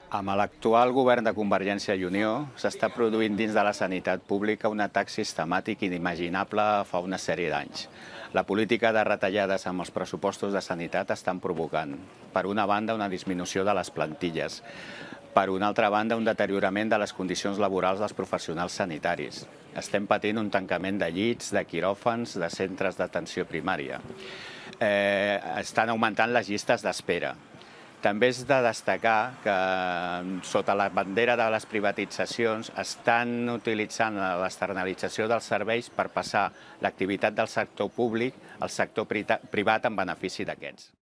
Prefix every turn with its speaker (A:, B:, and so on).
A: Amb l'actual govern de Convergència i Unió s'està produint dins de la sanitat pública un atac sistemàtic inimaginable fa una sèrie d'anys. La política de retallades amb els pressupostos de sanitat estan provocant, per una banda, una disminució de les plantilles, per una altra banda, un deteriorament de les condicions laborals dels professionals sanitaris. Estem patint un tancament de llits, de quiròfans, de centres d'atenció primària. Estan augmentant les llistes d'espera. També és de destacar que, sota la bandera de les privatitzacions, estan utilitzant l'externalització dels serveis per passar l'activitat del sector públic al sector privat en benefici d'aquests.